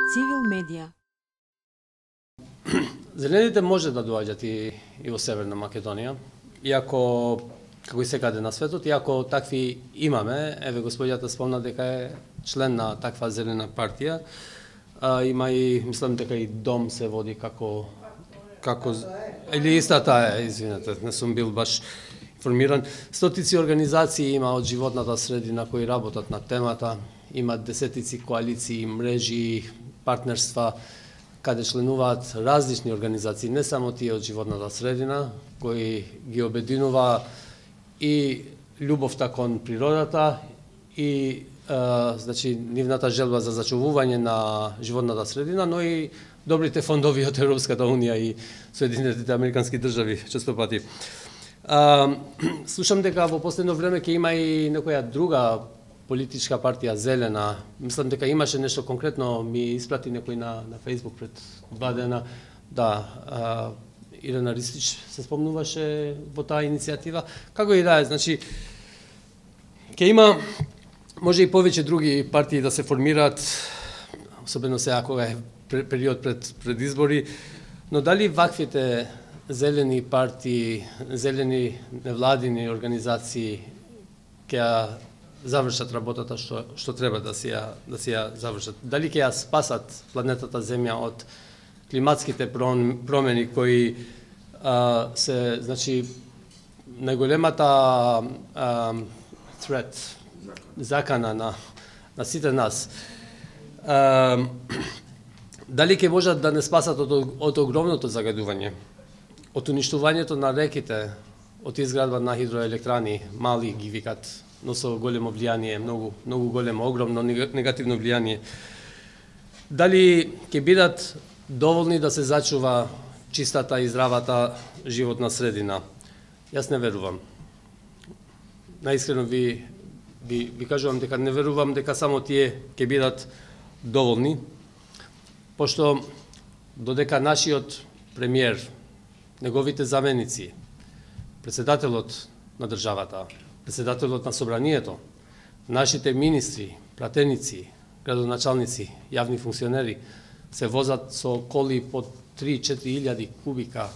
Цивил медија. Зелените може да доаѓат и во Северна Македонија, иако, како и секаде на светот, иако такви имаме, еве господјата спомна дека е член на таква зелена партија, има и, мислам дека и дом се води како или истата е, извинете, не сум бил баш информиран. Стотици организации има од животната средина кои работат на темата, има десетици коалиции, мрежи, партнерства, каде членуваат различни организации, не само тие од животната средина, кои ги обединува и љубовта кон природата и значи нивната желба за зачувување на животната средина, но и добрите фондови од Европската унија и Соединетите американски држави често пати. Слушам дека во последно време ќе има и некоја друга политичка партија Зелена. Мислам дека имаше нешто конкретно, ми испрати некој на Facebook пред 2 дена. Да, Ирена Ристич се спомнуваше во таа иницијатива. Како и да е, значи ќе има може и повеќе други партии да се формираат, особено сега кога е период пред избори, но дали ваквите зелени партии, зелени невладини организации ќе завршат работата што треба да си ја завршат? Дали ќе ја спасат планетата Земја од климатските промени кои се, значи, најголемата threat, закана на сите нас. Дали ќе можат да не спасат од огромното загадување, од уништувањето на реките, од изградба на хидроелектрани, мали ги викат, но со големо влијание, многу големо, огромно негативно влијание. Дали ќе бидат доволни да се зачува чистата и здравата животна средина? Јас не верувам. Наискрено ви кажувам дека не верувам дека само тие ќе бидат доволни, пошто додека нашиот премиер, неговите заменици, председателот на државата, председателот на собранието, нашите министри, пратеници, градоначалници, јавни функционери се возат со коли по 3-4 илјади кубика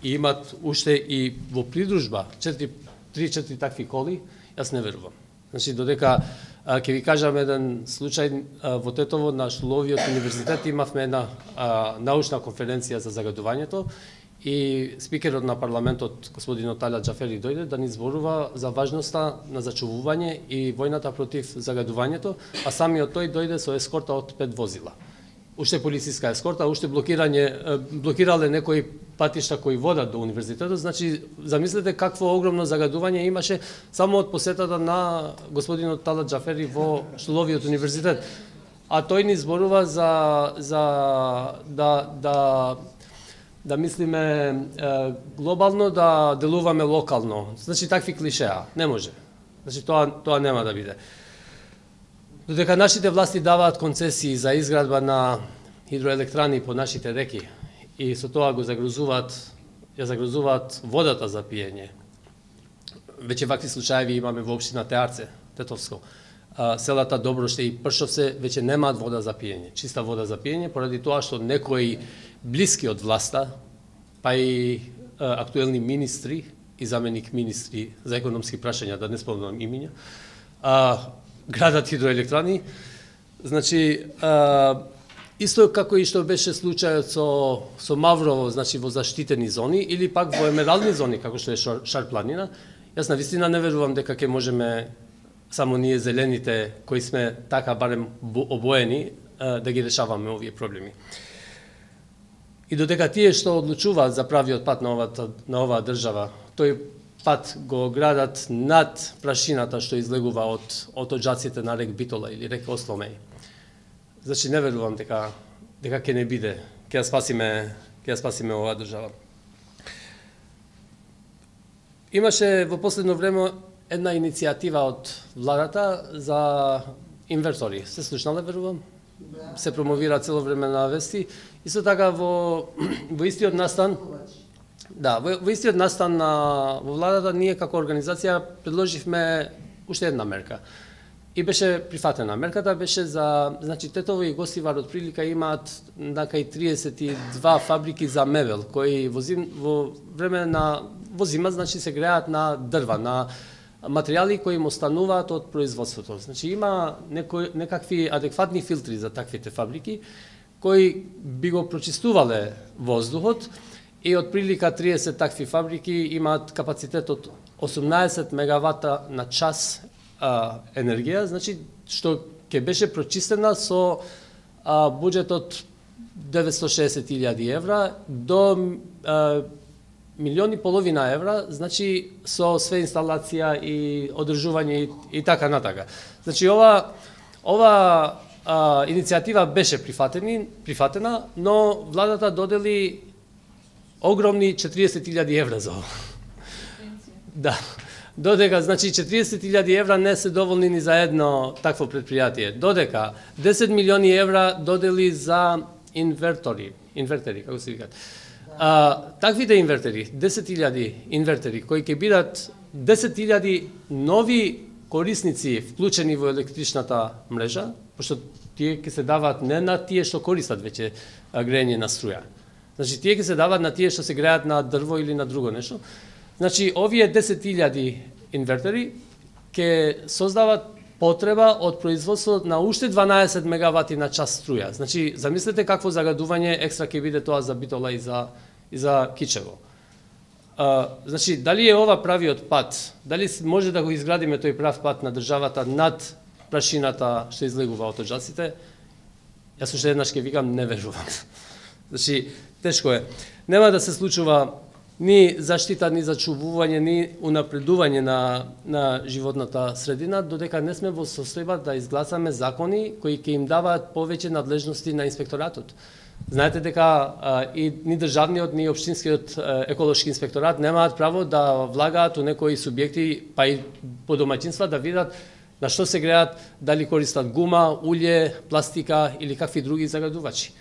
и имат уште и во придружба 3-4 такви коли, јас не верувам. Значи, додека ќе ви кажам еден случај, во Тетово на Штуловиот универзитет имавме една научна конференција за загадувањето и спикерот на парламентот, господинот Талат Џафери, дојде да ни зборува за важноста на зачувување и војната против загадувањето, а самиот тој дојде со ескорта од 5 возила. Уште полициска ескорта, уште блокирале некои патишта кои водат до универзитетот, значи замислете какво огромно загадување имаше само од посетата на господинот Талат Џафери во Штуловиот универзитет. А тој ни зборува за да мислиме глобално, да делуваме локално. Значи такви клишеа, не може. Значи тоа нема да биде. Додека нашите власти даваат концесии за изградба на хидроелектрани по нашите реки и со тоа ја загрозуваат водата за пиење. Веќе вакви случаи имаме во општина Теарце, Тетовско. Селата Доброште и Пршовце веќе немаат вода за пиење, чиста вода за пиење, поради тоа што некои блиски од власта, па и актуелни министри и заменик министри за економски прашања, да не спомнам имиња, градат хидроелектрани. Значи, исто како и што беше случајот со Маврово, значи во заштитени зони, или пак во емерални зони, како што е Шар планина, јас навистина не верувам дека ќе можеме само ние зелените, кои сме така барем обоени, да ги решаваме овие проблеми. И додека тие што одлучуваат за правиот пат на оваа држава, тој пат го градат над прашината што излегува од оджаците на рек Битола или рек Осломеј. Значи не верувам дека ќе не биде, ќе ја спасиме оваа држава. Имаше во последно време една иницијатива од владата за инвертори. Се слушнале, верувам? Се промовира цело време на вести. Исто така во истиот настан, во истиот настан во владата ние како организација предложивме уште една мерка. и беше прифатена. Мерката беше за, значи Тетово и Гостивар од прилика имаат накај 32 фабрики за мебел кои во време на возима, значи се греат на дрва, на материјали кои им остануваат од производството. Значи има некакви адекватни филтри за таквите фабрики кои би го прочистувале воздухот и од прилика 30 такви фабрики имаат капацитет од 18 мегавата на час енергија, значи што ќе беше прочистена со буџет од 960.000 евра до 1,5 евра, значи со све инсталација и одржување и така натака. Значи ова иницијатива беше прифатена, но владата додели огромни 40.000 евра за ова. Да. Додека, значи 40.000 евра не се доволни ни за едно такво предпријатие. Додека 10 милиони евра додели за инвертери, како се викаат. Таквите инвертери, 10.000 инвертери, кои ќе бидат 10.000 нови корисници вклучени во електричната мрежа, пошто тие ќе се даваат не на тие што користат веќе грејење на струја. Значи тие ќе се даваат на тие што се греат на дрво или на друго нешто. Значи овие 10.000 инвертери ќе создават потреба од производство на уште 12 мегавати на час струја. Значи замислете какво загадување екстра ќе биде тоа за Битола и за Кичево. Значи дали е ова правиот пат? Дали може да го изградиме тој прав пат на државата над прашината што излегува од оджаците? Јас уште еднаш ќе викам не верувам. Значи тешко е. Нема да се случува ни заштита, ни зачувување, ни унапредување на животната средина, додека не сме во состојба да изгласаме закони кои ќе им даваат повеќе надлежности на инспекторатот. Знаете дека и ни државниот, ни општинскиот еколошки инспекторат немаат право да влагаат у некои субјекти, па и по домаќинства да видат на што се греат, дали користат гума, улје, пластика или какви други загадувачи.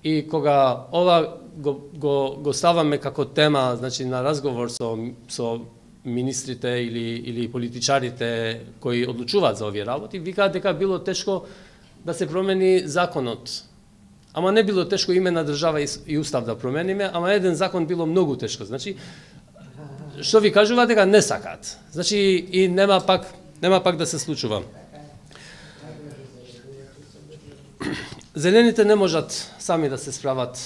И кога ова го ставаме како тема, значи на разговор со министрите или политичарите кои одлучуваат за овие работи, викаат дека било тешко да се промени законот. Ама не било тешко име на држава и устав да промениме, ама еден закон било многу тешко. Значи што ви кажуваат дека не сакаат. Значи и нема пак да се случува. Зелените не можат сами да се справат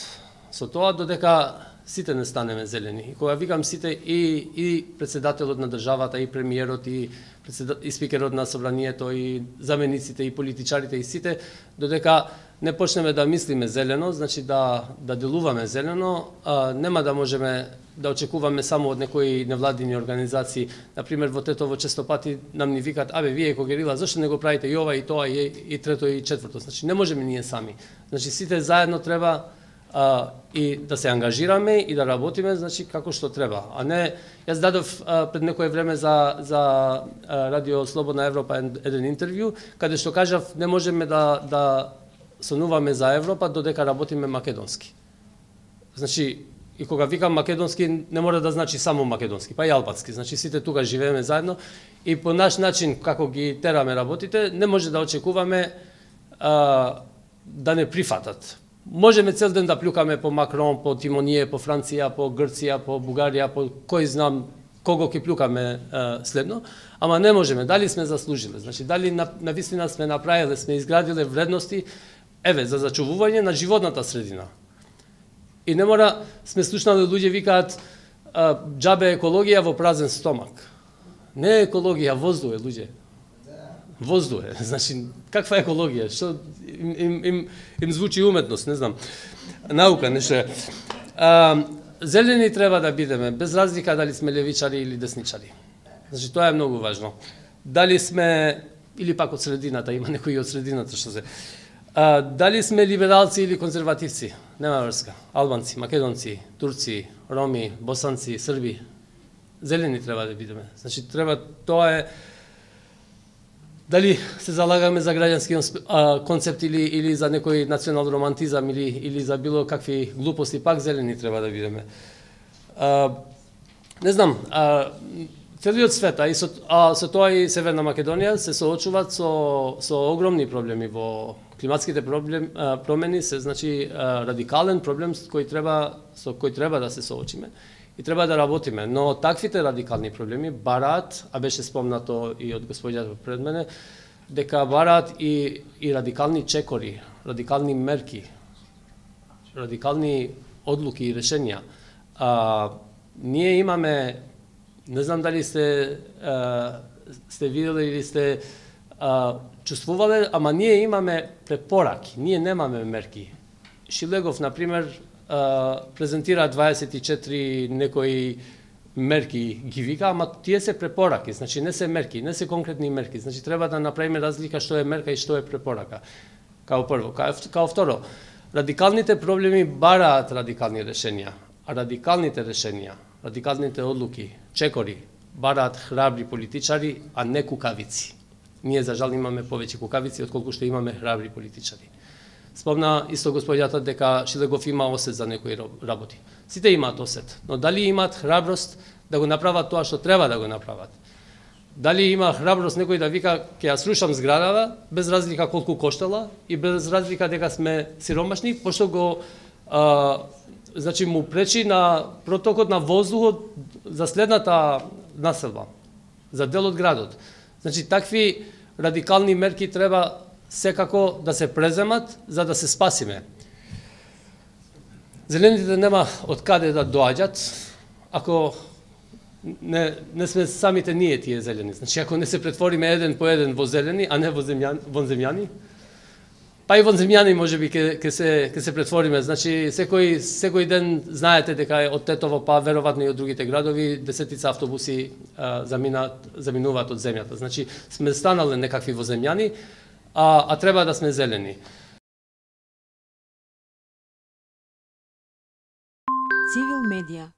со тоа, додека сите не станеме зелени. И кога викам сите, и председателот на државата, и премиерот, и спикерот на собранието, и замениците, и политичарите, и сите, додека не почнеме да мислиме зелено, значи да делуваме зелено, нема да можеме да очекуваме само од некои невладини организации. Например, во Тетово често пати нам ни викат, вие Когерила, зашто не го правите и ова, и тоа, и трето, и четврто. Значи, не можеме ние сами. Значи, сите заедно треба и да се ангажираме и да работиме, значи, како што треба. А не, јас дадов пред некое време за Радио Слободна Европа еден интервју, каде што кажав, не можеме да сонуваме за Европа додека работиме македонски. Значи, и кога викам македонски, не мора да значи само македонски, па и албански. Значи, сите тука живееме заедно и по наш начин, како ги тераме работите, не може да очекуваме да не прифатат. Можеме цел ден да плюкаме по Макрон, по Тимоние, по Франција, по Грција, по Бугарија, по кој знам кого ќе плюкаме следно, ама не можеме. Дали сме заслужиле? Значи, дали навистина сме направиле, сме изградиле вредности, за зачувување на животната средина. И не мора, сме слушнали луѓе викаат џабе екологија во празен стомак. Не е екологија, воздух е, луѓе. Воздух е. Значи, каква екологија? Што им звучи уметност, не знам. Наука, нешто. Зелени треба да бидеме, без разлика дали сме левичари или десничари. Значи, тоа е многу важно. Дали сме, или пак од средината, има некои од средината што се... Дали сме либералци или конзервативци? Нема врска. Албанци, македонци, турци, роми, босанци, срби. Зелени треба да бидеме. Значи, треба, тоа е... Дали се залагаме за граѓански концепт или за некој национал романтизам или за било какви глупости, пак зелени треба да бидеме. Не знам, Целиот свет, со тоа и Северна Македонија се соочуваат со огромни проблеми во климатските промени, се значи радикален проблем со кој треба да се соочиме и треба да работиме. Но таквите радикални проблеми бараат, а беше спомнато и од господјата пред мене, дека бараат и радикални чекори, радикални мерки, радикални одлуки и решенја. Ние имаме, не знам дали сте видели или сте чувствувале, ама ние имаме препораки, ние немаме мерки. Шилегов, например, презентира 24 некои мерки ги вика, ама тие се препораки, значи не се мерки, не се конкретни мерки. Значи треба да направиме разлика што е мерка и што е препорака. Као прво, као второ, радикалните проблеми бараат радикални решенја, а радикалните решенја, радикалните одлуки, чекори, бараат храбри политичари, а не кукавици. Ние, за жал, имаме повеќе кукавици, отколку што имаме храбри политичари. Спомна исто господјата дека Шилегов има осет за некои работи. Сите имаат осет, но дали имаат храброст да го направат тоа што треба да го направат? Дали има храброст некој да вика ќе ја срушам зградава, без разлика колку коштала и без разлика дека сме сиромашни, пошто го значи му пречи на протокот на воздухот за следната населба, за дел од градот. Значи такви радикални мерки треба секако да се преземат за да се спасиме. Зелените нема од каде да доаѓат ако не сме самите ние тие зелени. Значи ако не се претвориме еден по еден во зелени, а не во земјани, па и вонземјани можеби ќе се претвориме. Значи секој ден знаете дека од Тетово па веројатно и од другите градови десетица автобуси заминуваат од земјата. Значи сме станале некакви воземјани, а треба да сме зелени. Цивил медија.